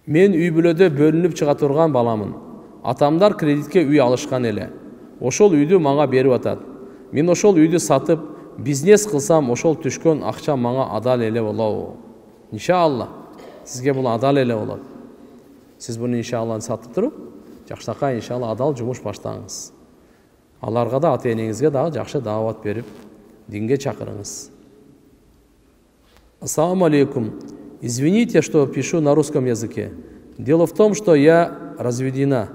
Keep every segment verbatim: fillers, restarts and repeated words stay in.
Мен үй бүлөдө бөлүнүп чыга турган баламын. Атамдар кредитке үй алышкан эле. Ошол үйдү мага берип атат. Мен ошол үйдү сатып, бизнес кылсам, ошол түшкөн акча мага адал эле болобу? Иншалла. Сизге бул адал эле болот. Сиз буну иншалла сатып туруп, жакшынакай иншалла адал жумуш баштаңыз. Аларга да, ата энеңизге дагы жакшы даават берип, динге чакырыңыз. Ассаламу алейкум. Извините, что пишу на русском языке. Дело в том, что я разведена,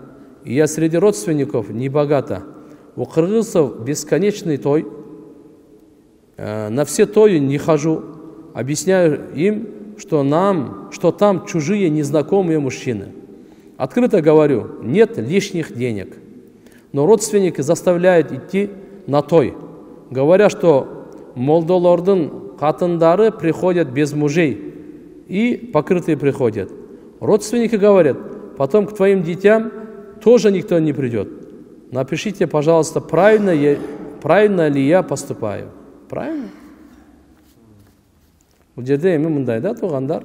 и я среди родственников не богата. У кыргызцев бесконечный той. На все тои не хожу. Объясняю им, что нам, что там чужие незнакомые мужчины. Открыто говорю, нет лишних денег. Но родственники заставляют идти на той, говоря, что молдолордун катындары приходят без мужей и покрытые приходят. Родственники говорят, потом к твоим детям тоже никто не придет. Напишите, пожалуйста, правильно, я, правильно ли я поступаю. Правильно? Бул жерде эми мындай да, туугандар.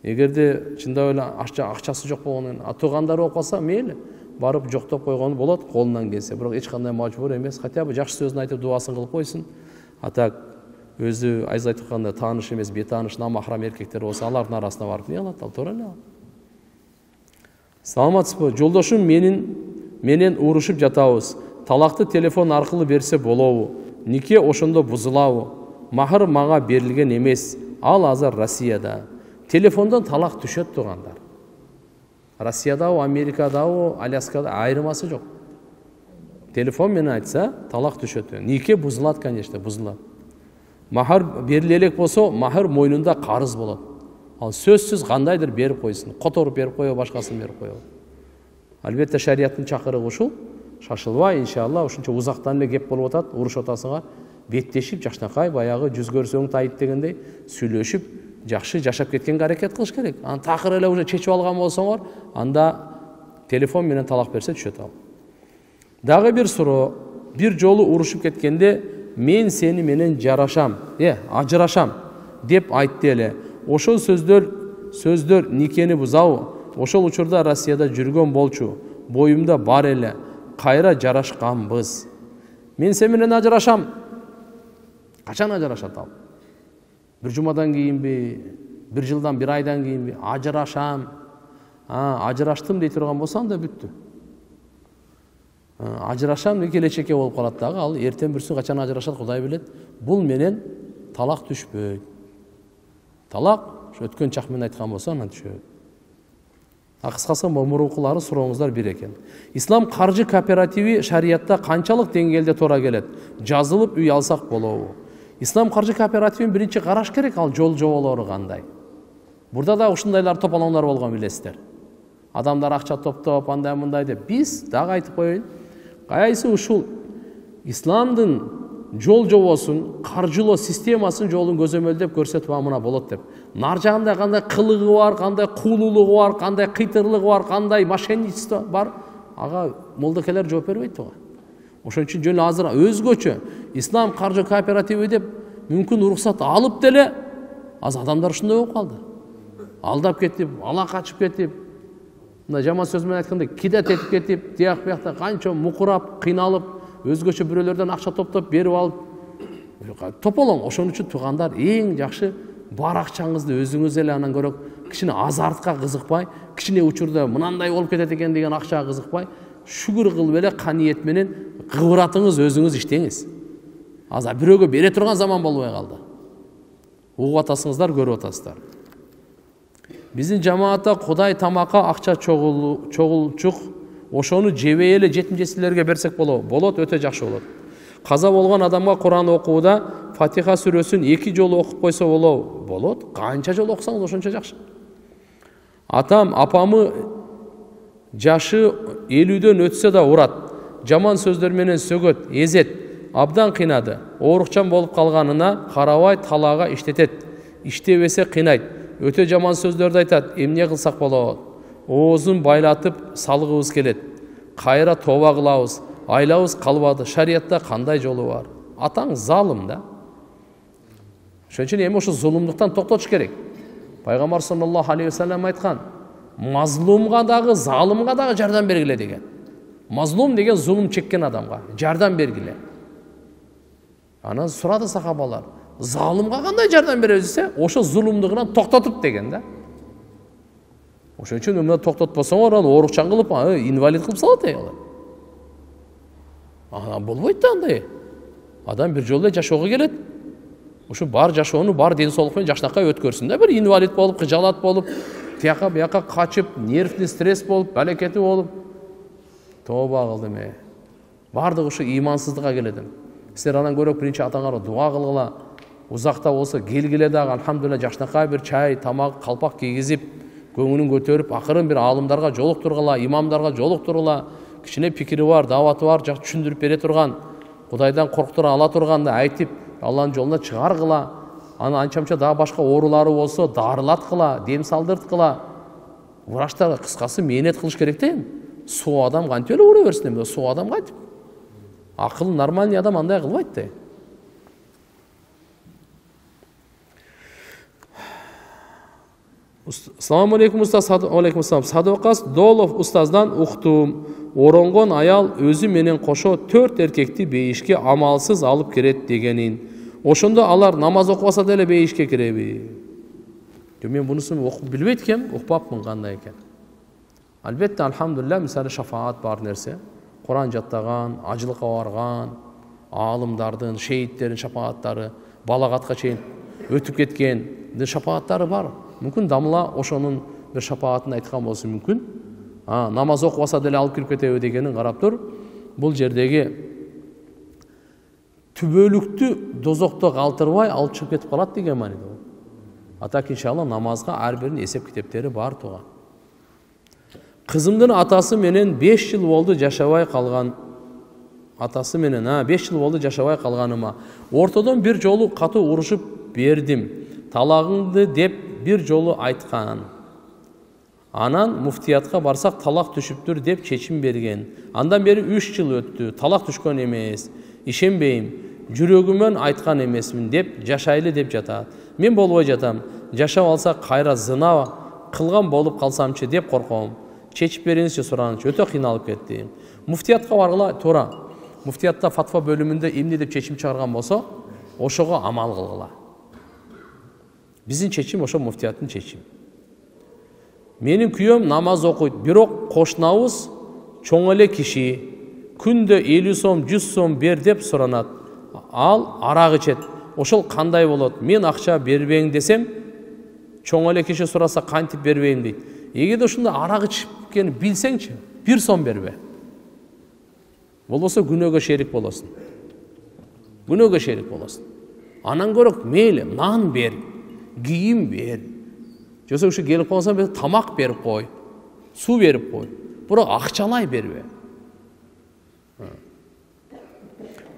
Эгерде чындап эле акчасы жок болгондон кийин туугандар болуп калса, мейли барып жоктоп койгону болот, колунан келсе. Бирок эч кандай мажбур эмес. Хотя бы жакшы сөзүн айтып дубасын кылып койсун. А так өзү айыз айтып атканда тааныш эмес, бетааныш намахрам эркектер болсо, алардын арасына барып эмне кылат? Ал туура эле. Саламатсызбы? Жолдошум менин менен урушуп жатабыз. Талакты телефон аркылуу берсе болобу? Нике ошондо бузулабы? Махыр мага берилген эмес. Ал азыр Россияда. Телефондон талак түшөт туугандар. Россиядабы, Америкадабы, Аляскада айырмасы жок. Телефон менен айтса, талак түшөт. Нике бузулат, конечно, бузулат. Махыр бериле элек болсо, махыр мойнунда карыз болот. Ал сөзсүз кандайдыр берип койсун. Которуп берип коё, башкасын берип коё. Албетте шарияттын чакырыгы ушул. Шашылбай, иншалла, ушунча узактан эле кеп болуп атат, урушуп атасыңар, беттешип, жакшынакай, баягы жүз көрсөң тайып дегендей сүйлөшүп, жакшы жашап кеткенге аракет кылыш керек. Аны такыр эле уже чечип алган болсоңор, анда телефон менен талак берсе түшөт ал. Дагы бир суроо, бир жолу урушуп кеткенде мен сени менен жарашам, э, ажырашам деп айтты эле. Ошол сөздөр сөздөр никени бузабы? Ошол учурда Россияда жүргөн болчу. Боюмда бар эле. Кайра жарашканбыз. Мен сени менен ажырашам. Качан ажырашат ал? Бир жумадан кийинби, бир жылдан, бир айдан кийинби ажырашам. А, ажыраштым дей турган болсо анда бүттү. Ажырашам деп келечекке болуп калат дагы, ал эртең бүрсүн качан ажырашат Кудай билет. Бул менен талак түшпөйт. Талак өткөн чак менен айткан болсо анан түшөт. Кыскасы мурункулары сурооңуздар бир экен. Ислам каржы кооперативи шариятта канчалык деңгээлде туура келет? Жазылып үй алсак болобу? Ислам каржы кооперативин биринчи караш керек, ал жол жоболору кандай. Бурда да ушундайлар топалоңдор болгон билесиздер. Адамдар акча топтоп, андай мындай деп. Биз дагы айтып коеюн, кайсы ушул исламдын жол жобосун, каржылоо системасын жолун көзөмөлдөп көрсөтүп амына болот деп. Нар жагында кандай кылыгы бар, кандай куулуулугу бар, кандай кыйтырлыгы бар, кандай мошенничество бар, ага молдокелер жооп бербейт туга. Ошон үчүн жөн азыр өзгөчө ислам каржы кооперативи деп мүмкүн уруксат алып деле аз адамдар ушундай болуп калды. Алдап кетип, ала качып кетип, мына жаман сөз менен айтканда кидет этип кетип, тияк биякта канча мукурап, кыйналып, өзгөчө бирөөлөрдөн акча топтоп берип алып тополоң. Ошон үчүн туугандар эң жакшы бар акчаңызды өзүңүз эле анан көрөк кичине азартка кызыкпай, кичине учурда мынандай болуп кетет экен деген акчага кызыкпай, шүгүр кылып эле каниет менен кыбыратыңыз өзүңүз иштеңиз. Азыр бирөөгө бере турган заман болбой калды. Угуп атасыңыздар, көрүп атасыздар. Биздин жамаатта Кудай тамакка акча чогулчук, ошону жебей эле жетим жесирлерге берсек болобу? Болот, өтө жакшы болот. Каза болгон адамга Куран окууда Фатиха сүрөсүн эки жолу окуп койсо болобу? Болот. Канча жолу окусаңыз ошончо жакшы. Атам, апамы жашы элүүдөн өтсө да урат. Жаман сөздөр менен сөгөт, эзет, абдан кыйнады. Оорукчан болуп калганына карабай талаага иштетет. Иштебесе кыйнайт. Өтө жаман сөздөрдү айтат. Эмне кылсак болот? Оозун байлатып салгыбыз келет. Кайра тоба кылабыз. Айлабыз калбады. Шариятта кандай жолу бар? Атаң залым да. Ошон үчүн эми ошо зулумдуктан токтотуш керек. Пайгамбар саллаллаху алейхи ва саллям айткан: мазлумга дагы, залымга дагы жардам бергиле деген. Мазлум деген зулум чеккен адамга жардам бергиле. Анан сурады сахабалар, залымга кандай жардам беребиз десе, ошо зулумдугунан токтотуп деген да. Ошон үчүн мына токтотпосоңор, ал оорукчан кылып, инвалид кылып салат ай алар. Ана болбойт да андай. Адам бир жолу жашоого келет. Ушу бар жашоону, бар ден соолук менен жакшынакай өткөрсүн да, бир инвалид болуп, кыжалат болуп, тияка бияка качып, нервный стресс болуп, балекети болуп. Тооба кылдым э. Бардыгы ушу ыймансыздыкка келет. Силер анан көрөк биринчи атаңарга дуа кылгыла. Узакта болсо келгиле дагы алхамдулилла жакшынакай бир чай, тамак, калпак кийгизип, көңүлүн көтөрүп, акырын бир аалымдарга жолуктургула, имамдарга жолуктургула, кичине пикири бар, даваты бар, жак түшүндүрүп бере турган, Кудайдан корктура ала турганды айтып, Алланын жолуна чыгаргыла. Аны анчамча дагы башка оорулары болсо, дарылаткыла, дем салдырткыла. Врачтар кыскасы мээнет кылыш керек да эми. Суу адам кантип эле ура берсин эми, суу адам кантип. Акыл нормальный адам андай кылбайт да. Assalamu alaikum ustaz. Alaikum assalam. Садуакас Долов устаздан уктум. Оронгон аял өзү менен кошо төрт эркекти бейишке амалсыз алып кирет дегенин. Ошондо алар намаз окубаса деле бейишке киреби? Мен бунусун окуп билбейт экем, укпапмын кандай экен. Албетте, алхамдулилля, мисалы шафаат бар нерсе. Куран жаттаган, ажылыкка барган, аалымдардын, шейиттердин шафааттары, балагатка чейин өтүп кеткен шафааттары бар. Мүмкүн дамла ошонун бир шафаатын айткан болсо мүмкүн. А, намаз окубаса деле алып кирип кетеби дегенин карап тур. Бул жердеги түбөлүктү дозокто калтырбай алып чыгып кетип калат деген мааниде. Атак иншалла намазга ар биринин эсеп китептери бар туган. Кызымдын атасы менен беш жыл болду жашабай калган. Атасы менен, а, беш жыл болду жашабай калганыма. Ортодон бир жолу катуу урушуп бердим. Талагыңды деп бир жолу айткан. Анан муфтиятка барсак талак түшүптүр деп чечим берген. Андан бери үч жыл өттү. Талак түшкөн эмес. Ишенбейм. Жүрөгүмөн айткан эмесмин деп жашайлы деп жатат. Мен болбой жатам. Жашап алсак кайра зына кылган болуп калсамчы деп корком. Чечип бериңизчи суранычы. Өтө кыйналып кеттим. Муфтиятка баргыла, туура. Муфтиятта фатва бөлүмүндө эмне деп чечим чыгарган болсо, ошого амал кылгыла. Биздин чечим ошо муфтияттын чечими. Менин күйөөм намаз окуйт, бирок кошунабыз чоң эле киши. Күндө элүү сом, жүз сом бер деп суранат. Ал арак ичет. Ошол кандай болот? Мен акча бербейм десем, чоң эле киши сураса кантип бербейм дейт. Эгерде ушунда арак ичкени билсеңчи, бир сом бербе. Болбосо күнөөгө шерик болосуң. Күнөөгө шерик болосуң. Анан көрөк мейли нан бер, кийим бер. Жосо ушу келип калсаң, тамак берип кой, суу берип кой. Бирок акчалай бербе.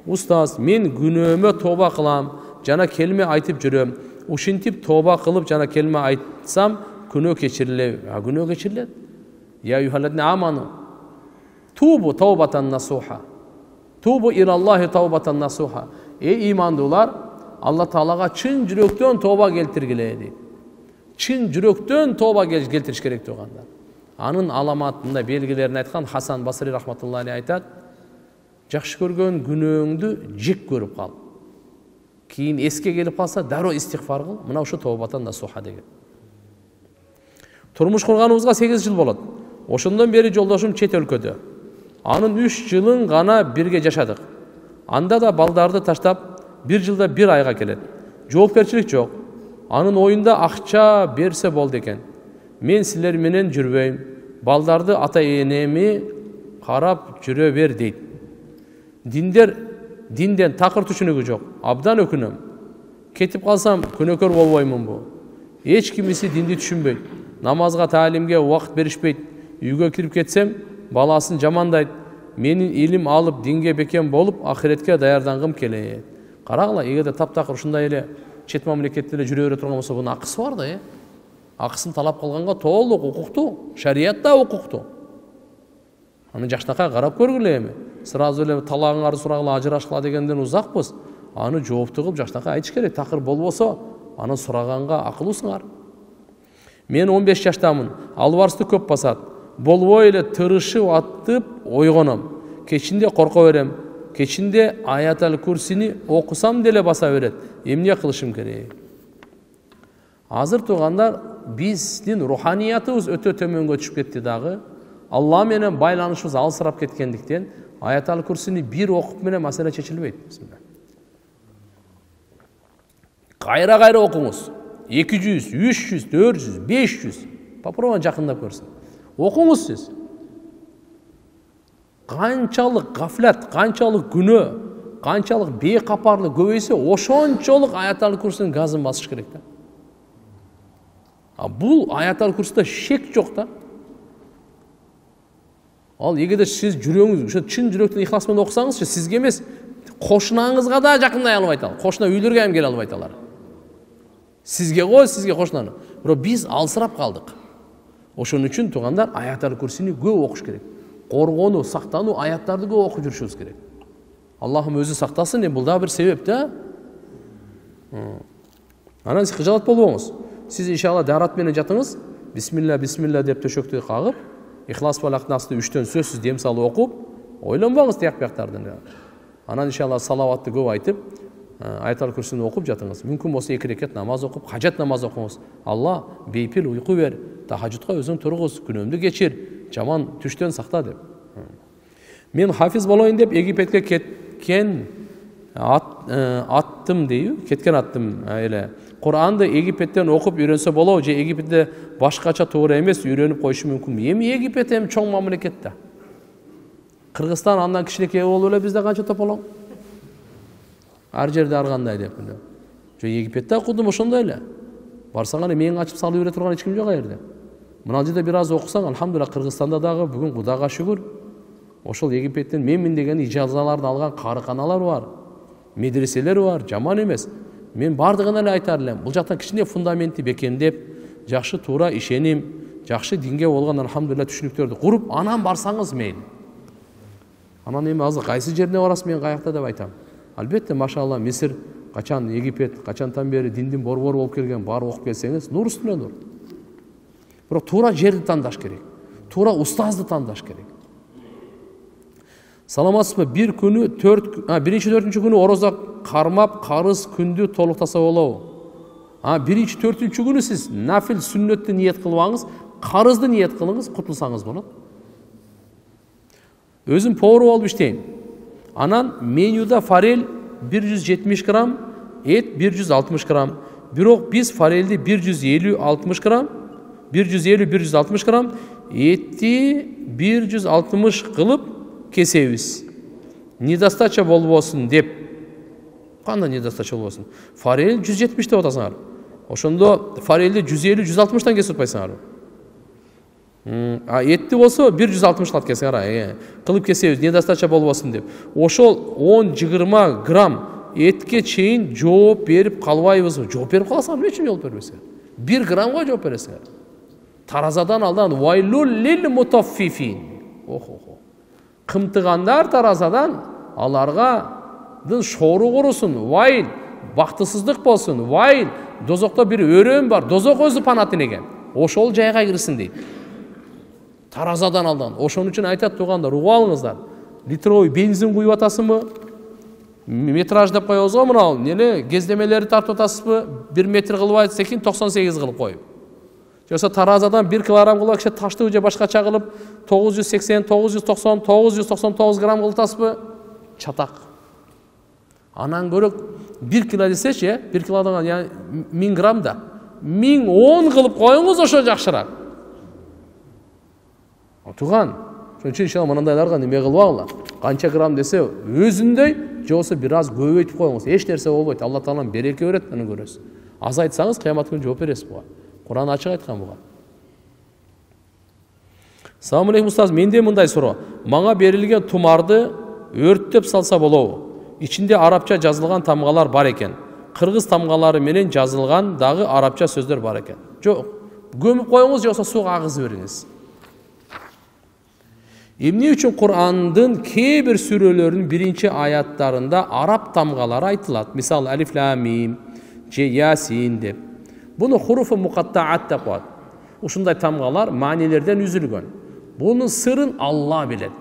Устаз, мен күнөөмө тооба кылам, жана келме айтып жүрөм. Ушинтип тооба кылып жана келме айтсам, күнөө кечирилеби? А күнөө кечирилет. Я юхалладна аману. Тубу таубатан насуха. Тубу илаллахи таубатан насуха. Эй имандуулар, Алла Таалага чын жүрөктөн тооба келтиргиле дейт. Чын жүрөктөн тооба келтириш керек тугандар. Анын аламатында белгилерин айткан Хасан Басри рахматуллахи айтат: жакшы көргөн күнөөңдү жек көрүп кал. Кийин эске келип калса, дароо истигфар кыл. Мына ушу таубатан насуха деген. Турмуш курганыбызга сегиз жыл болот. Ошондон бери жолдошум чет өлкөдө. Анын үч жылын гана бирге жашадык. Анда да балдарды таштап, бир жылда бир айга келет. Жоопкерчилик жок. Анын оюнда акча берсе болду экен. Мен силер менен жүрбөйм. Балдарды ата-энеми карап жүрө бер дейт. Диндер динден такыр түшүнүгү жок. Абдан өкүнөм. Кетип калсам күнөөкөр болбоймунбу? Эч кимиси динди түшүнбөйт. Намазга, таалимге убакыт беришпейт. Үйгө кирип кетсем, баласын жамандайт. Менин илим алып, динге бекем болуп, ахиретке даярдангым келет. Карагыла, эгерде таптакыр ушундай эле чет мамлекетте эле жүрө бере турган болсо, бунун акысы бар да, э? Акысын талап кылганга толук укуктуу, шариятта укуктуу. Аны жакшынакай карап көргүлө эми. Сразу эле талагыңарды сурагыла, ажырашкыла дегенден узакпыз. Аны жоопту кылып жакшынакай айтыш керек. Такыр болбосо, аны сураганга акылуусуңар. Мен он беш жаштамын. Албарсты көп басат. Болбой эле тырышып аттып ойгоном. Кечинде корко берем. Кечинде Аятал Курсини окусам деле баса берет. Эмне кылышым керек? Азыр туугандар, биздин руханиятыбыз өтө төмөнгө түшүп кетти дагы. Алла менен байланышыбыз алсырап кеткендиктен Аятал Курсини бир окуп менен маселе чечилбейт. Кайра-кайра окуңуз. эки жүз, үч жүз, төрт жүз, беш жүз. Попробуй жакындап көрсүң. Окуңуз сиз. Канчалык гафлат, канчалык күнөө, канчалык бейкапарлык көбөйсө, ошончолук Аятал Курсинин газын басыш керек да. А бул Аятал Курсида шек жок да. Ал эгерде сиз жүрөгүңүз, ошо чын жүрөктөн ихлас менен окусаңызчы, сизге эмес, кошунаңызга да жакындай албайт ал. Кошуна үйлөргө ham келе албайт алар. Сизге го, сизге кошунаны. Бирок биз алсырап калдык. Ошон үчүн туугандар, Аятал Курсини көп окуш керек. Коргонуу, сактануу аяттарды көп окуп жүрүшүбүз керек. Аллахым өзү сактасын, бул да бир себеп да. Анан сиз кыжалат болбоңуз. Сиз иншалла дарат менен жатыңыз. Бисмилла, бисмилла деп төшөктү кагып, Ихлас Фалак Насты үчтөн сөзсүз дем салып окуп, ойлонбоңуз тияк бияктардын. Анан иншалла салаватты көп айтып, Аятал Курсини окуп жатыңыз. Мүмкүн болсо эки рекет намаз окуп, хажат намаз окуңуз. Алла бейпил уйку бер, тахажжудка өзүң тургуз, күнөөмдү кечир, жаман түштөн сакта деп. Мен хафиз болоюн деп Египетке кеткен ат, аттым дейби, кеткен аттым эле. Куранды Египеттен окуп үйрөнсө болобу же Египетте башкача туура эмес үйрөнүп коюшу мүмкүн. Эми Египет эми чоң мамлекет да. Кыргызстан андан кичинекей болуп эле бизде канча тополоң? Ар жерде ар кандай деп. Же Египетте окудум ошондой эле. Барсаң эле мени ачып салып бере турган эч ким жок жерде. Мына жерде бир аз окусаң, алхамдулилlah, Кыргызстанда дагы бүгүн Кудайга шүгүр. Ошол Египеттен менмин деген ижазаларды алган карыканалар бар, медреселер бар, жаман эмес. Мен бардыгына эле айтар элем, бул жактан кичине фундаменти бекемдеп, жакшы туура ишеним, жакшы динге болгон алхамдулилlah түшүнүктөрдү куруп, анан барсаңыз мейли. Анан эми азыр кайсы жерине барасыз, мен каякта деп айтам. Албетте, машалла, Мисир, качан Египет, качантан бери диндин борбору болуп келген, барып окуп келсеңиз, нур үстүнө нур. Бирок туура жерди тандаш керек. Туура устазды тандаш керек. Саламатсызбы? Бир күнү төрт, а биринчи төртүнчү күнү ороза кармап, карыз күндү толуктаса болобу? А биринчи төртүнчү күнү сиз нафил сүннөттү ниет кылбаңыз, карызды ниет кылыңыз, кутулсаңыз болот. Өзүм повар болуп иштейм. Анан менюда форель бир жүз жетимиш грамм, эт бир жүз алтымыш грамм. Бирок биз форельди бир жүз элүү алтымыш грамм, бир жүз элүү бир жүз алтымыш грамм, этти бир жүз алтымыш кылып кесебиз. Недостача болбосун деп. Кандай недостача болбосун? Форель жүз жетимиш деп атасыңар. Ошондо форельди жүз элүү жүз алтымыштан кесип атпайсыңар. А этти болсо бир жүз алтымыш кылат кесиңар, кылып кесебиз, недостача болбосун деп. Ошол он жыйырма грамм этке чейин жооп берип калбайбызбы? Жооп берип каласыңар, эмне үчүн жооп бербесиңер? бир граммга жооп бересиңер. Таразадан алдан вайлул лил мутаффифин. Охо. Кымтыгандар таразадан, аларга дын шору курусун, вайл, бактысыздык болсун, вайл, дозокто бир өрөм бар, дозок өзү панатын экен. Ошол жайга кирсин дейт. Таразадан алдан. Ошон үчүн айтат туугандар, угуп алыңыздар. Литровый бензин куюп атасызбы? Метраж деп коебуз го, мына эле кездемелерди тартып атасызбы? бир метр кылып айтсакин токсон сегиз кылып коюп. Жоксо таразадан бир килограмм кылып киши ташты же башкача кылып тогуз жүз сексен, тогуз жүз токсон, тогуз жүз токсон тогуз грамм кылып атасызбы? Чатак. Анан көрөк бир кило десечи, бир килодан яны миң грамм да. миң он кылып коюңуз, ошо жакшыраак. Туган, ошон үчүн иншалла мынандайларга неме кылбагыла. Канча грамм десе өзүндөй, же болсо бир аз көбөйтүп коюңуз. Эч нерсе болбойт. Алла таалам береке берет, аны көрөсүз. Аз айтсаңыз кыямат күнү жооп бересиз буга. Куран ачык айткан буга. Салам алейкум устаз, менде мындай суроо. Мага берилген тумарды өрттөп салса болобу? Ичинде арабча жазылган тамгалар бар экен. Кыргыз тамгалары менен жазылган дагы арабча сөздөр бар экен. Жок, көмүп коюңуз же болсо сууга агызып бериңиз. Эмне үчүн Курандын кээ бир сүрөлөрүнүн биринчи аяттарында араб тамгалары айтылат? Мисалы алиф лам мим же ясин деп. Буну хуруфу муқаттаат деп коет. ушундай тамгалар маанилерден үзүлгөн. Бунун сырын Алла билет.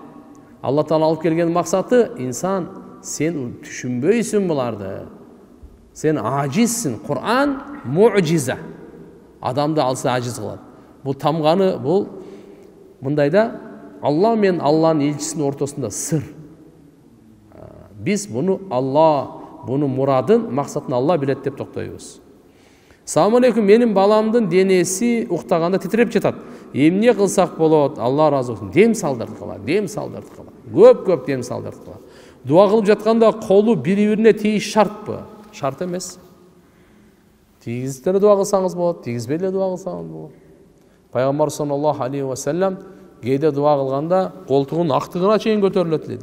Алла Таала алып келген максаты инсан сен түшүнбөйсүң буларды. Сен ажизсиң. Кур'ан муъжиза. Адамды алса ажиз кылат. Бул тамганы бул мындайда Алла мен Алланын элчисинин ортосунда сыр. Биз буну Алла, буну мурадын, максатын Алла билет деп токтойбуз. Салам алейкум, менин баламдын денеси уктаганда титиреп жатат. Эмне кылсак болот? Алла ыраазы болсун. Дем салдырткыла, дем салдырткыла. Көп-көп дем салдырткыла. Дуа кылып жатканда колу бири-бирине тийиш шартпы? Шарт эмес. Тийгизип эле дуа кылсаңыз болот, тийгизбей эле дуа кылсаңыз болот. Пайгамбар саллаллаху алейхи ва саллям кээде дуа кылганда колтугунун актыгына чейин көтөрүлөт эле.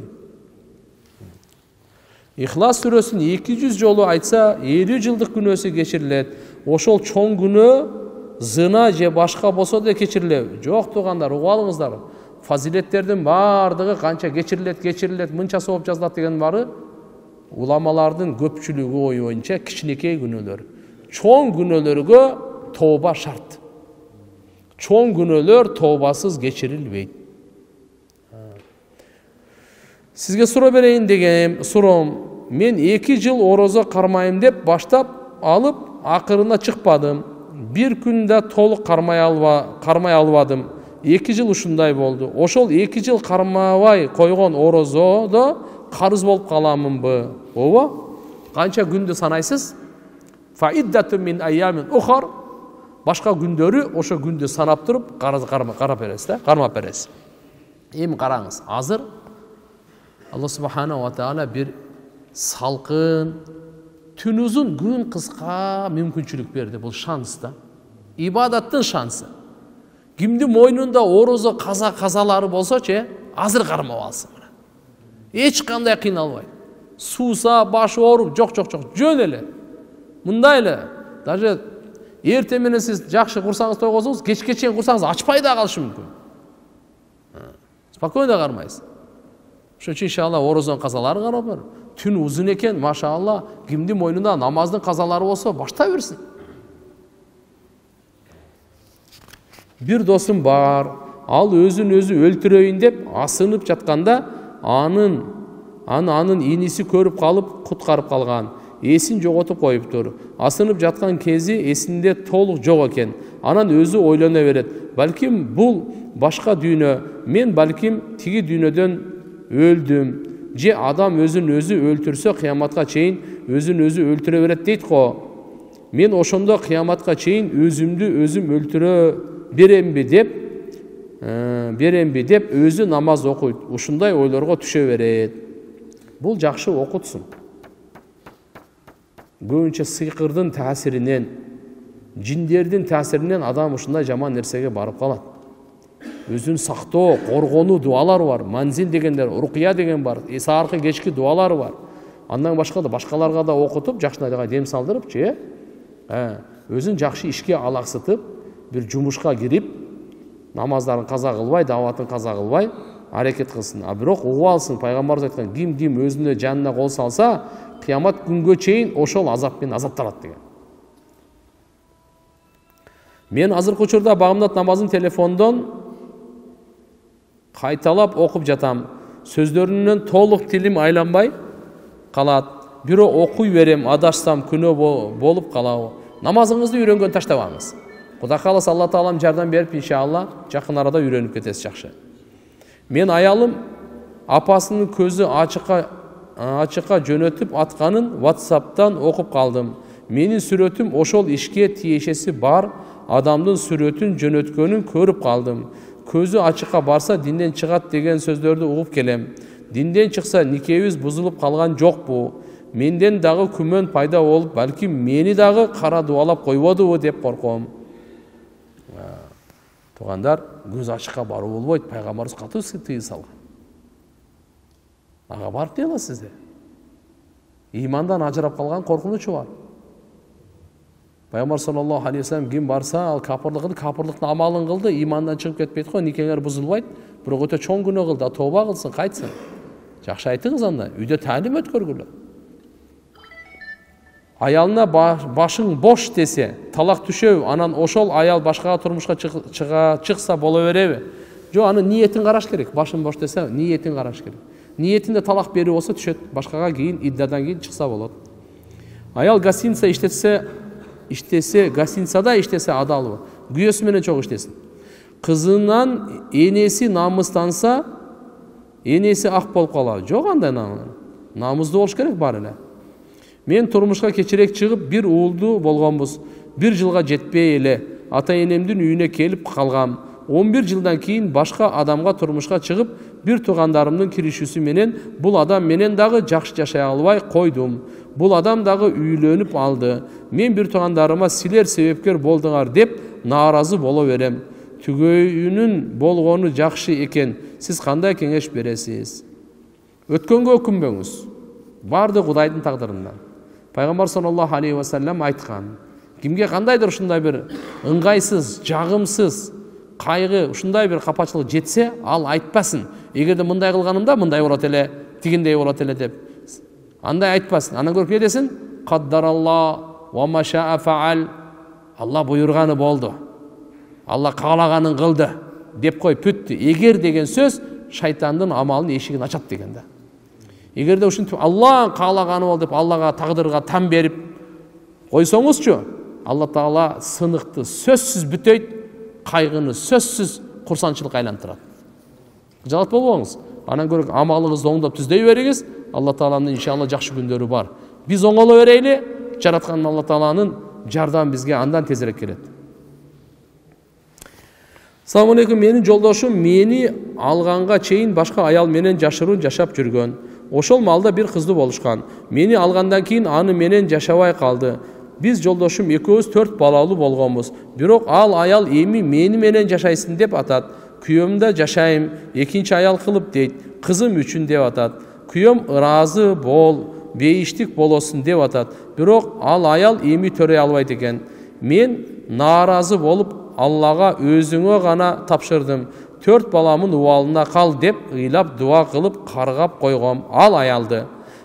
Ихлас сүрөсүн эки жүз жолу айтса, элүү жылдык күнөөсү кечирилет. Ошол чоң күнөө зына же башка болсо да кечирилет. Жок туугандар, угуп алыңыздар. Фазилеттердин баардыгы канча кечирилет, кечирилет, мынчасы болуп жазылат деген бары уламалардын көпчүлүгү ой боюнча кичинекей күнөөлөр. Чоң күнөөлөргө тооба шарт. Чоң күнөөлөр тообасыз кечирилбейт. Сизге суроо берейин дегеним, суроом, мен эки жыл орозо кармайм деп баштап алып, акырына чыкпадым. Бир күндө толук кармай алба, кармай албадым. эки жыл ушундай болду. Ошол эки жыл кармабай койгон орозодо карыз болуп каламынбы? Ооба? Канча күндү санайсыз? Фаиддатун мин айямин ухар. Башка күндөрү ошо күндү санап туруп, карыз карап бересиз да, кармап бересиз. Эми караңыз, азыр Алла субхана ва таала бир салкын, түн узун, күн кыска мүмкүнчүлүк берди. Бул шанс да. Ибадаттын шансы. Кимдин мойнунда орозо каза казалары болсочу, азыр кармап алсын. Эч кандай кыйналбайт. Сууса, башы ооруп, жок жок жок, жөн эле. Мындай эле. Даже эртең менен сиз жакшы курсаңыз тойгосоңуз, кечке чейин курсаңыз ачпай да калышы мүмкүн. Спокойно кармайсыз. Ошон үчүн иншалла орозонун казалары карап бар. Түн узун экен, машалла, кимдин мойнунда намаздын казалары болсо, баштай берсин. Бир досум бар, ал өзүн өзү өлтүрөйүн деп асынып жатканда, анын аны анын иниси көрүп калып, куткарып калган. Эсин жоготуп коюптур. Асынып жаткан кези эсинде толук жок экен. Анан өзү ойлоно берет. Балким бул башка дүйнө, мен балким тиги дүйнөдөн өлдүм. Же адам өзүн өзү өлтүрсө кыяматка чейин өзүн өзү өлтүрө берет дейт го. Мен ошондо кыяматка чейин өзүмдү өзүм өлтүрө беремби деп, беремби деп өзү намаз окуйт. Ушундай ойлорго түшө берет. Бул жакшы окутсун. Көбүнчө сыйкырдын таасиринен, жиндердин таасиринен адам ушундай жаман нерсеге барып калат. Өзүн сактоо, коргонуу дуалары бар. Манзил дегендер, рукия деген бар. Сааркы кечки дуалары бар. Андан башка да башкаларга да окутуп, жакшынайга дем салдырыпчы, э, өзүн жакшы ишке алаксытып, бир жумушка кирип, намаздарын каза кылбай, даватын каза кылбай, аракет кылсын. А бирок угуп алсын, пайгамбарыбыз айткан, ким ким өзүнө жанына кол салса, кыямат күнгө чейин ошол азап менен азапталат деген. Мен азыркы учурда багымдат намазын телефондон кайталап окуп жатам. Сөздөрүнөн толук тилим айланбай калат. Бирок окуй берем, адашсам күнөө болуп калабы. Намазыңызды үйрөнгөн таштабаңыз. Кудай кааласа Алла Таалам жардам берип, иншалла, жакын арада үйрөнүп кетесиз жакшы. Мен аялым апасынын көзү ачыкка ачыкка жөнөтүп атканын WhatsApp'тан окуп калдым. Менин сүрөтүм ошол ишке тиешеси бар адамдын сүрөтүн жөнөткөнүн көрүп калдым. Көзү ачыкка барса динден чыгат деген сөздөрдү угуп келем. Динден чыкса никебиз бузулуп калган жокпу? Менден дагы күмөн пайда болуп, балким мени дагы кара дуалап койбодубу деп корком. Туугандар, көз ачыкка баруу болбойт, пайгамбарыбыз катуу тыйым салган. Ага барып дей аласыздар. Имандан ажырап калган коркунучу бар. Пайгамбар саллаллаху алейхи ва саллям ким барса, ал капырлыгын, капырлыктын амалын кылды, имандан чыгып кетпейт го, никеңер бузулбайт, бирок өтө чоң күнөө кылды, тооба кылсын, кайтсын. Жакшы айтыңыз анда, үйдө таалим өткөргүлө. аялына башың бош десе, талак түшөбү, анан ошол аял башкага турмушка чыга чыкса боло береби? Жок, анын ниетин караш керек. Башың бош десе, ниетин караш керек. Ниетинде талак берүү болсо түшөт, башкага кийин иддадан кийин чыкса болот. Аял гостиница иштесе, иштесе, гостиницада иштесе адалбы? Күйөөсү менен чогуу иштесин. Кызынан энеси намыстанса, энеси ак болуп калабы? Жок, андай намыздуу болуш керек бар эле. Мен турмушка кечирээк чыгып, бир уулду болгонбуз. Бир жылга жетпей эле ата энемдин үйүнө келип калгам. он бир жылдан кийин башка адамга турмушка чыгып, бир туугандарымдын киришүүсү менен бул адам менен дагы жакшы жашай албай койдум. Бул адам дагы үйлөнүп алды. Мен бир туугандарыма силер себепкер болдуңар деп нааразы боло берем. Түгөйүнүн болгону жакшы экен. Сиз кандай кеңеш бересиз? Өткөнгө өкүнбөңүз. Барды Кудайдын тагдырынан. Пайгамбар саллаллаху алейхи ва саллям айткан. Кимге кандайдыр ушундай бир ыңгайсыз, жагымсыз кайгы, ушундай бир капачылык жетсе, ал айтпасын. Эгерде мындай кылганымда мындай болот эле, тигиндей болот эле деп. Андай айтпасын. Андан көрүп не десин? Каддаралла ва ма шаа фаал. Алла буйрганы болду. Алла каалаганын кылды деп кой, бүттү. Эгер деген сөз шайтандын амалынын эшигин ачат деген да. Эгерде ушинтип Алла каалаганы бол деп Аллага тагдырга там берип койсоңузчу, Алла Таала сыныкты сөзсүз бүтөйт, кайгыны сөзсүз курсанчылыкка айлантырат. Жалат болбоңуз. Анан көрүп амалыңызды оңдоп түздөй бериңиз. Алла Тааланын иншалла жакшы күндөрү бар. Биз оңоло берейли, жараткан Алла Тааланын жардамы бизге андан тезирээк келет. Салам алейкум, менин жолдошум мени алганга чейин башка аял менен жашыруун жашап жүргөн. Ошол малда бир кызды болушкан. Мени алгандан кийин аны менен жашабай калды. Биз жолдошум экөөбүз төрт балалуу болгонбуз. Бирок ал аял эми мени менен жашайсың деп атат. Күйөөмдө жашайм, экинчи аял кылып дейт. Кызым үчүн деп атат. Күйөөм ыраазы бол, бейиштик болосун деп атат. Бирок ал аял эми төрөй албайт экен. Мен нааразы болуп Аллага өзүңө гана тапшырдым. Төрт баламын убалына кал деп ыйлап дуа кылып каргап койгом ал аялды.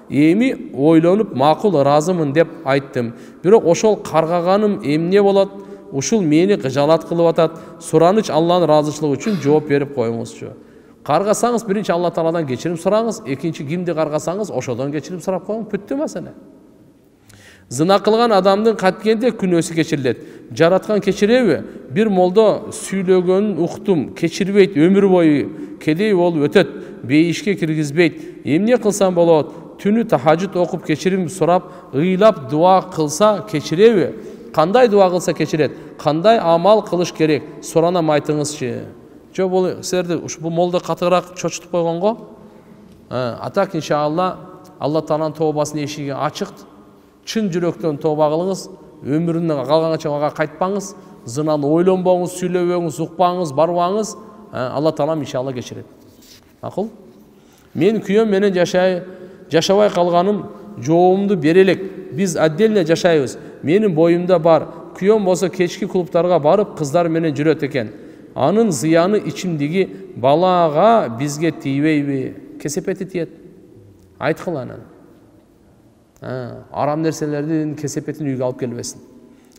Эми ойлонуп макул ыраазымын деп айттым. Бирок ошол каргаганым эмне болот? Ушул мени кыжалат кылып атат. Сураныч Алланын ыраазычылыгы үчүн жооп берип коюңузчу. Каргасаңыз биринчи Алла Тааладан кечирим сураңыз, экинчи кимди каргасаңыз ошодон кечирим сурап коюңуз, бүттү маселе. Зына кылган адамдын каткенде күнөөсү кечирилет. Жараткан кечиреби? Бир молдо сүйлөгөнүн уктум, кечирбейт, өмүр бою кедей болуп өтөт, бейишке киргизбейт. Эмне кылсам болот? Түнү тахажжуд окуп кечирим сурап, ыйлап дуа кылса кечиреби? Кандай дуа кылса кечирет? Кандай амал кылыш керек? Суранам, айтыңызчы. Жок, бул силерди ушул молдо катыраак чочутуп койгонго? Атак иншалла Алла Тааланын тообасынын эшиги ачык. Чын жүрөктөн тооба кылыңыз, өмүрүнөн калганча ага кайтпаңыз, зынаны ойлонбоңуз, сүйлөбөңүз, укпаңыз, барбаңыз, Алла Таалам иншалла кечирет. Макул? Мен күйөөм менен жашай, жашабай калганым жообумду бере элек. Биз отдельно жашайбыз. Менин боюмда бар. Күйөөм болсо кечки клубтарга барып, кыздар менен жүрөт экен. Анын зыяны ичимдиги балага бизге тийбейби? Кесепети тиет. Айткыл анан. Арам нерселердин кесепетин үйгө алып келбесин.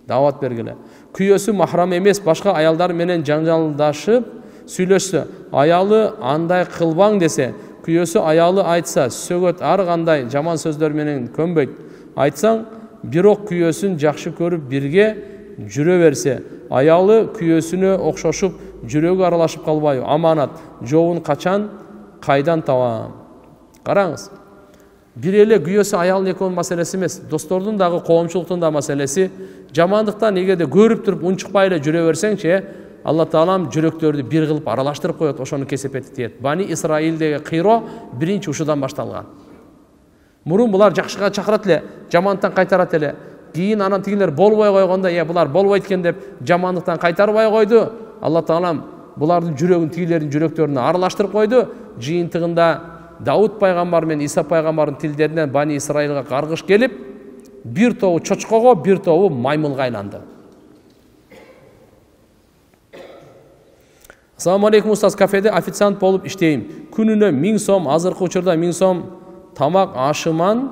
Дават бергиле. Күйөөсү махрам эмес, башка аялдар менен жаңжалдашып сүйлөшсө, аялы андай кылбаң десе, күйөөсү аялы айтса, сөгөт ар кандай жаман сөздөр менен көнбөйт. Айтсаң, бирок күйөөсүн жакшы көрүп бирге жүрө берсе, аялы күйөөсүнө окшошуп, жүрөгү аралашып калбайбы? Аманат. Жообун качан, кайдан табам? Караңыз. Бир эле күйөөсү аялдын экөөнүн маселеси эмес, достордун дагы, коомчулуктун да маселеси. Жамандыктан эгерде көрүп туруп унчукпай эле жүрө берсеңчи, Алла Таалам жүрөктөрдү бир кылып аралаштырып коет, ошонун кесепети тиет. Бани Исраилдеги кыйро биринчи ушудан башталган. Мурун булар жакшыга чакырат эле, жамандыктан кайтарат эле. Кийин анан тигилер болбой койгондо, "Е, булар болбойт экен" деп жамандыктан кайтарбай койду. Алла Таалам булардын жүрөгүн, тигилердин жүрөктөрүнө аралаштырып койду. Жыйынтыгында Дауд пайгамбар менен Иса пайгамбардын тилдеринен Бани Исраилга каргыш келип, бир тобу чочкого, бир тобу маймылга айланды. Ассаламу алейкум, устаз, кафеде официант болуп иштейм. Күнүнө миң сом, азыркы учурда миң сом тамак ашыман,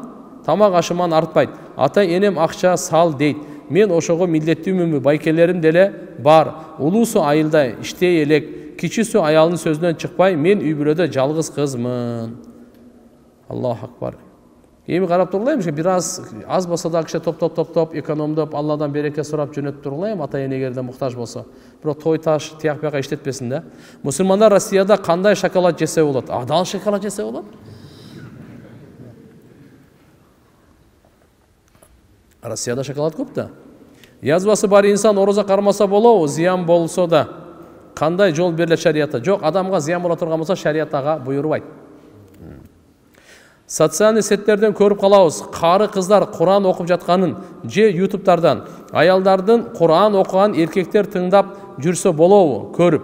тамак ашыман артпайт. Ата энем акча сал дейт. Мен ошого милдеттүүмүнбү, байкелерим деле бар. Улуусу айылда иштей элек, кичүүсү аялынын сөзүнөн чыкпай, мен үй бүлөдө жалгыз кызмын. Аллаху акбар. Эми карап тургула, бир аз аз болсо да киши топтоп топтоп экономдоп, Алладан береке сурап жөнөтүп тургула, ата энегерде муктаж болсо. Бирок той таш тияк бияка иштетпесин да. Мусулмандар Россияда кандай шоколад жесе болот? Адал шоколад жесе болот. Россияда шоколад көп да. Язбасы бар инсан ороза кармаса болобу, зыян болсо да. Кандай жол берилет шариятта? Жок, адамга зыян боло турган болсо шарият ага буйрубайт. Социальный сеттерден көрүп калабыз. Кары кыздар Куран окуп жатканын же ютубтардан аялдардын Куран окуган эркектер тыңдап жүрсө болобу? Көрүп.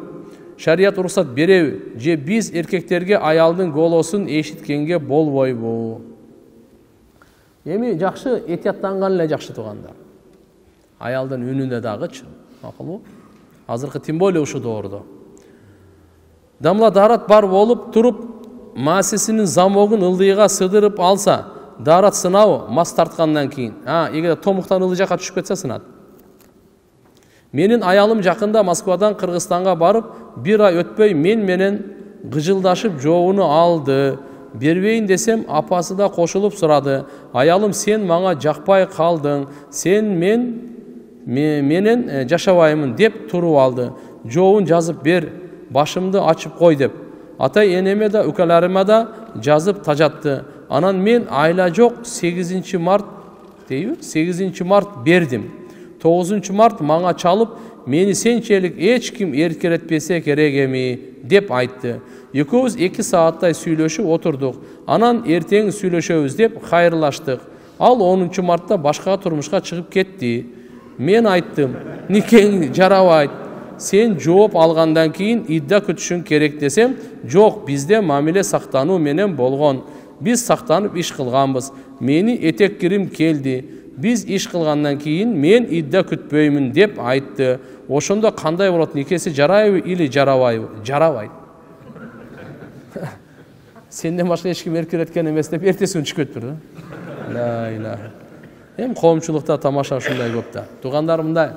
Шарият уруксат береби? Же биз эркектерге аялдын голосун эшиткенге болбойбу? Эми жакшы этияттанган эле жакшы туугандар. Аялдын үнүнө дагычы, макулбу? Азыркы тем более ушу доордо. Дамла дарат бар болуп туруп, маасисинин замогун ылдыйга сыдырып алса, дарат сынабы мас тарткандан кийин. А, эгер томуктан ылдый жакка түшүп кетсе сынат. Менин аялым жакында Москвадан Кыргызстанга барып, бир ай өтпөй мен менен гыжылдашып жообуну алды. Бербейин десем, апасы да кошулуп сурады. Аялым, сен мага жакпай калдың, сен мен менен жашабаймын деп туруп алды. Жообун жазып бер, башымды ачып кой деп. Ата энеме да, үкөлөрүмө да жазып тажатты. Анан мен айла жок сегизинчи март дейби? сегизинчи март бердим. тогузунчу март мага чалып, мени сенчелик эч ким эркелетпесе керек эми деп айтты. Экөөбүз эки сааттай сүйлөшүп отурдук. Анан эртең сүйлөшөбүз деп кайрылаштык. Ал онунчу мартта башка турмушка чыгып кетти. Мен айттым, никең жарабайт. Сен жооп алгандан кийин идда күтүшүң керек десем, жок, бизде мамиле сактануу менен болгон. Биз сактанып иш кылганбыз. Мени этек кирим келди. Биз иш кылгандан кийин мен идда күтпөймүн деп айтты. Ошондо кандай болот? Никеси жарайбы или жарабайбы? Жарабайт. Сенден башка эч ким эркелеткен эмес деп эртеси күнү чыгып кетиптир да. Ла илаха. Эми коомчулукта тамаша ушундай көп да. Туугандар мындай.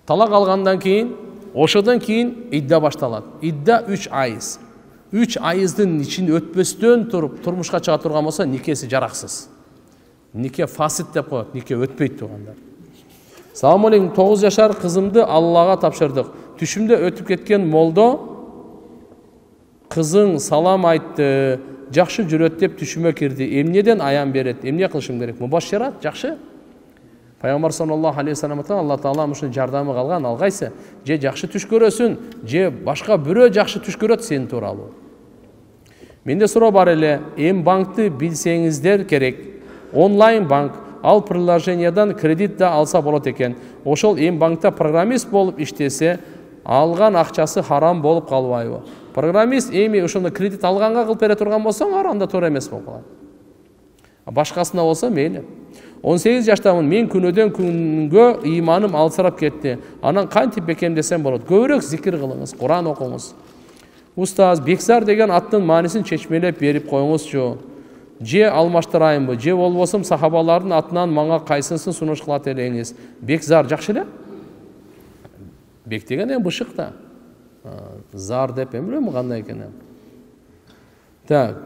Талак алгандан кийин, ошодон кийин идда башталат. Идда үч айыз. үч айыздын ичин өтпөстөн туруп турмушка чыга турган болсо, никеси жараксыз. Нике фасид деп коет, нике өтпөйт туугандар. Салам алейкум, тогуз жашар кызымды Аллага тапшырдык. Түшүмдө өтүп кеткен молдо кызың салам айтты, жакшы жүрөт деп түшүмө кирди. Эмнеден аян берет? Эмне кылышым керек? Мубашшират жакшы. Пайгамбар саллаллаху алейхи ва саллам Алла таала ушун жардамы калган, алгайсы, же жакшы түш көрөсүн, же башка бирөө жакшы түш көрөт сен тууралуу. Менде суроо бар эле, эм банкты билсеңиздер керек. Онлайн банк, ал приложениядан кредит да алса болот экен. Ошол эм банкта программист болуп иштесе, алган акчасы харам болуп калбайбы? Программист эми ошондо кредит алганга кылып бере турган болсоң, анда туура эмес болуп калат. Башкасына болсо мейли. он сегиз жаштамын, мен күнөдөн күнгө ыйманым алсырап кетти. Анан кантип бекем десем болот? Көбүрөөк зикир кылыңыз, Куран окуңуз. Устаз, Бекзар деген аттын маанисин чечмелеп берип коюңузчу. Же алмаштырайынбы, же болбосо сахабалардын атынан мага кайсысын сунуш кылат элеңиз? Бекзар жакшы эле? Бек деген эми бышык да. Зар деп эми билем кандай экенин. Так.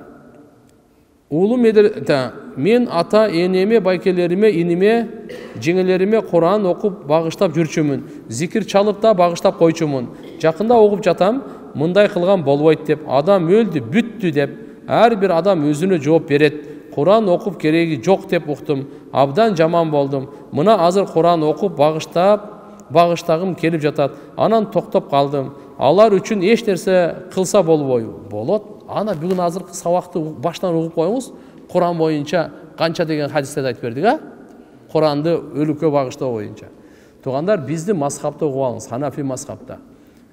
Улуу медер, та, мен ата энеме, байкелериме, иниме, жеңелериме Куран окуп багыштап жүрчүмүн. Зикир чалып да багыштап койчумун. Жакында окуп жатам, мындай кылган болбойт деп, адам өлдү, бүттү деп, ар бир адам өзүнө жооп берет. Куран окуп кереги жок деп уктум. Абдан жаман болдум. Мына азыр Куран окуп багыштап, багыштагым келип жатат. Анан токтоп калдым. Алар үчүн эч нерсе кылса болбойбу? Болот. Ана бүгүн азыркы сабакты баштан угуп коюңуз. Куран боюнча канча деген хадистерди айтып бердик, а? Куранды өлүккө багыштоо боюнча. Туугандар, бизди мазхабта угуп алыңыз, Ханафи мазхабта.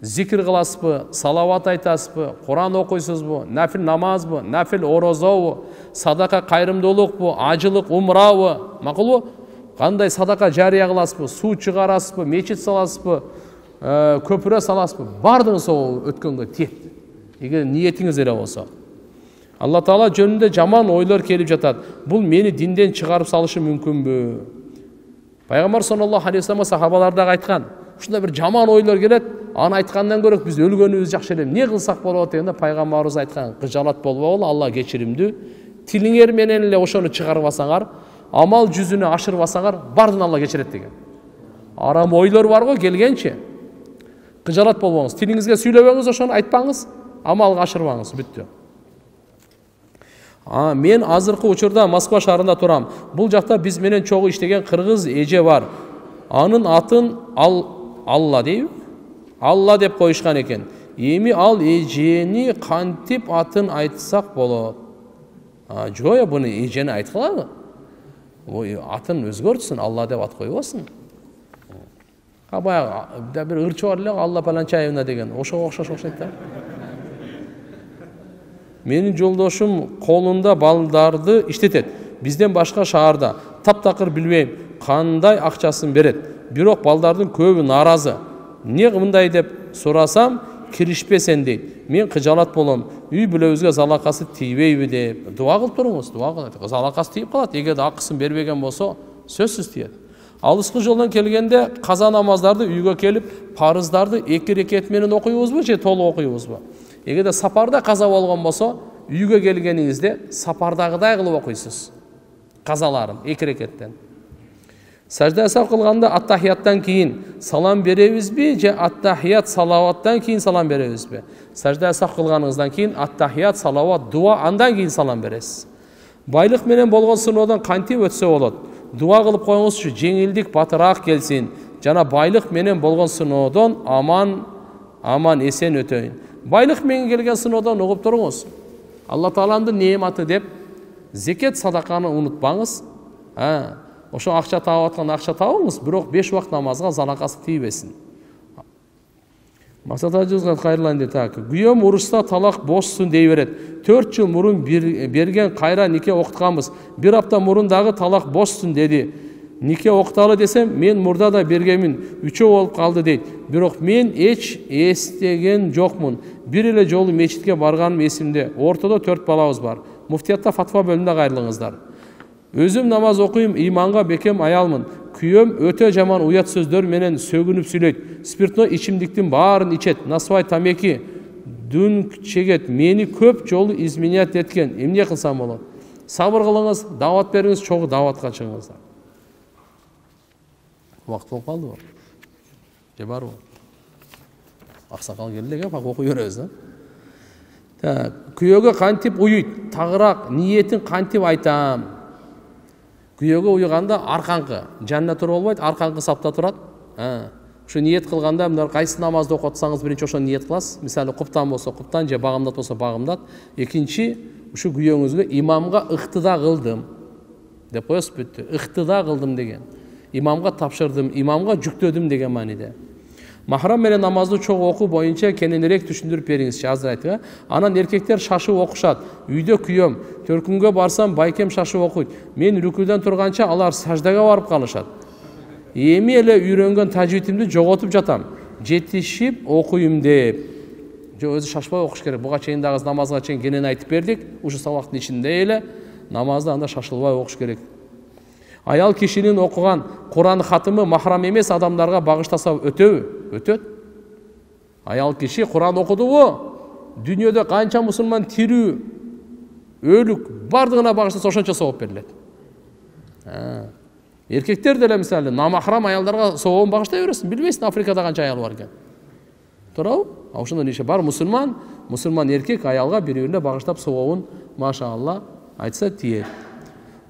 Зикир кыласызбы, салават айтасызбы, Куран окуйсузбу, нафил намазбы, нафил орозобу, садака кайрымдуулукпу, ажылык умрабы, макулбу? Кандай садака жарыя кыласызбы, суу чыгарасызбы, мечит саласызбы, көпүрө саласызбы? Бардыгы сол өткөнгө тиет. Эгер ниетиңиз эле болсо. Алла Таала жөнүндө жаман ойлор келип жатат. Бул мени динден чыгарып салышы мүмкүнбү? Пайгамбар саллаллаху алейхи вассалам сахабалар дагы айткан. Ушундай бир жаман ойлор келет, аны айткандан көрө биз өлгөнүбүз жакшы эле. Эмне кылсак болот дегенде пайгамбарыбыз айткан: кыжалат болбогула, Алла кечиримдүү. Тилиңер менен эле ошону чыгарбасаңар, амал жүзүнө ашырбасаңар, бардын Алла кечирет деген. Арам ойлор бар го келгенче. Кыжалат болбоңуз. Тилиңизге сүйлөбөңүз, ошону айтпаңыз, амалга ашырбаңыз, бүттү. А, мен азыркы учурда Москва шаарында турам. Бул жакта биз менен чогуу иштеген кыргыз эже бар. Анын атын ал Алла дейби? Алла деп коюшкан экен. Эми ал эжени кантип атын айтсак болот? А, жок, буну эжени айткылабы? Ой, атын өзгөртсүн, Алла деп ат койбосун. А баягы бир ырчы бар эле, Алла Паланчаевна деген. Ошого окшош окшойт да. Менин жолдошум колунда балдарды иштетет. Бизден башка шаарда. Таптакыр билбейм кандай акчасын берет. Бирок балдардын көбү нааразы. Эмне мындай деп сурасам, киришпесен дейт. Мен кыжалат болом. Үй бүлөбүзгө залакасы тийбейби деп. Дуа кылып туруңуз, дуа кылат. Залакасы тийип калат. Эгерде акысын бербеген болсо, сөзсүз тиет. Алыскы жолдон келгенде каза намаздарды үйгө келип, парыздарды эки рекет менен окуйбузбу же толук окуйбузбу? Эгерде сапарда каза болгон болсо, үйгө келгениңизде сапардагыдай кылып окуйсуз. Казаларын эки рекеттен. Сажда сап кылганда аттахияттан кийин салам беребизби же аттахият салаваттан кийин салам беребизби? Сажда сап кылганыңыздан кийин аттахият салават дуа андан кийин салам бересиз. Байлык менен болгон сыноодон кантип өтсө болот? Дуа кылып коюңузчу, жеңилдик батыраак келсин. Жана байлык менен болгон сыноодон аман аман эсен өтөйүн. Байлык менен келген сыноодон угуп туруңуз. Алла Тааланын неематы деп зекет садаканы унутпаңыз. А, ошо акча таап аткан акча табыңыз, бирок беш убакыт намазга залакасы тийбесин. Максат ажыбызга кайрылайын дейт. Күйөөм урушса талак бошсун дей берет. төрт жыл мурун берген кайра нике окутканбыз. Бир апта мурун дагы талак бошсун деди. Нике окуталы десем, мен мурда да бергенмин, үчөө болуп калды дейт. Бирок мен эч эстеген жокмун. Бир эле жолу мечитке барганым эсимде. Ортодо төрт балабыз бар. Муфтиятта фатва бөлүмүндө кайрылыңыздар. Өзүм намаз окуйм, иманга бекем аялмын. Күйөөм өтө жаман уят сөздөр менен сөгүнүп сүйлөйт. Спиртной ичимдиктин баарын ичет, насыбай тамеки, дүн чегет. Мени көп жолу изменять эткен. Эмне кылсам болот? Сабыр кылыңыз, дават бериңиз, чогуу даватка чыгыңыздар. Убакыт болуп калдыбы? Же барбы? Аксакал келди эле, бак окуй беребиз, да. Күйөөгө кантип уйуйт? Тагыраак ниетин кантип айтам? Күйөөгө уйганда аркаңкы, жанына туруп болбойт, аркаңкы сапта турат. Ушу ниет кылганда мындай кайсы намазды окутсаңыз биринчи ошону ниет кыласыз. Мисалы куптан болсо куптан же багымдат болсо багымдат. Экинчи ушу күйөөңүзгө имамга ыктыда кылдым деп коесуз, бүттү. Ыктыда кылдым деген. Имамга тапшырдым, имамга жүктөдүм деген мааниде. Махрам менен намазды чогуу окуу боюнча кененирээк түшүндүрүп бериңизчи, азыр айтты. Анан эркектер шашып окушат. Үйдө күйөөм, төркүнгө барсам байкем шашып окуйт. Мен рүкүдөн турганча алар саждага барып калышат. Эми эле үйрөнгөн тажвидимди жоготуп жатам. Жетишип окуйм деп. Жо өзү шашпай окуш керек. Буга чейин дагы намазга чейин кенен айтып бердик. Ушу сабактын ичинде эле намазды анда шашылбай окуш керек. Аял кишинин окуган Куран хатымы махрам эмес адамдарга багыштаса өтөбү? Өтөт. Аял киши Куран окудубу? Дүйнөдө канча мусулман тирүү, өлүк бардыгына багыштаса ошончо сооп берилет. Эркектер деле мисалы намахрам аялдарга сообун багыштай бересиң, билбейсиң Африкада канча аял бар экен. Туурабы? А ошондон иши бар мусулман, мусулман эркек аялга бири-бирине багыштап сообун машаалла айтса тиет.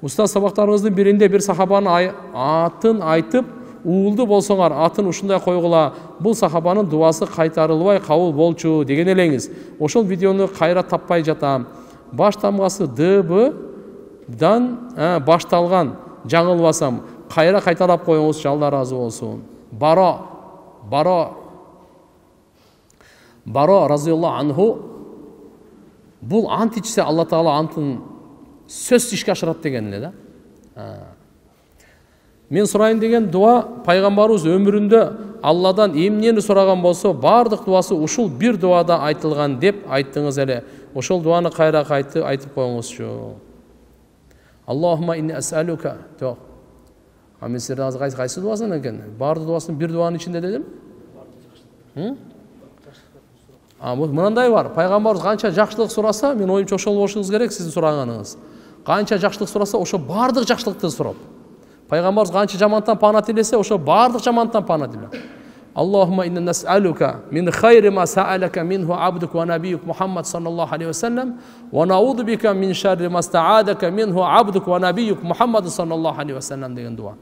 Устаз сабактарыбыздын биринде бир сахабанын атын айтып, уулду болсоңар атын ушундай койгула, бул сахабанын дуасы кайтарылбай кабыл болчу деген элеңиз. Ошол видеону кайра таппай жатам. Баш тамгасы Д Б-дан башталган, жаңылбасам, кайра кайталап коюңузчу, Алла ыраазы болсун. Баро, Баро, Баро разияллаху анху, бул ант ичсе Алла Таала антын сөз ишке ашырат деген эле да. Мен сурайын деген дуа пайгамбарыбыз өмүрүндө Алладан эмнени сураган болсо, бардык дуасы ушул бир дуада айтылган деп айттыңыз эле. ошол дуаны кайра кайтып айтып коюңузчу. Аллахума инни ас'алука. Жок. А мен силердин азыр кайсы кайсы дуасын экен? Баардык дуасын бир дуанын ичинде дедим. А мынандай бар. Пайгамбарыбыз канча жакшылык сураса, мен оюмча ошол болушуңуз керек сиздин сураганыңыз. Канча жакшылык сураса, ошо баардык жакшылыкты сурап. Пайгамбарыбыз канча жамандыктан пана тилесе, ошо баардык жамандыктан пана тиле. Аллахума инна нас'алука мин хайри ма са'алака минху абдук ва набиюк Мухаммад саллаллаху алейхи ва саллям ва науду бика мин шарри ма ста'адака минху абдук ва набиюк Мухаммад саллаллаху алейхи ва саллям деген дуа.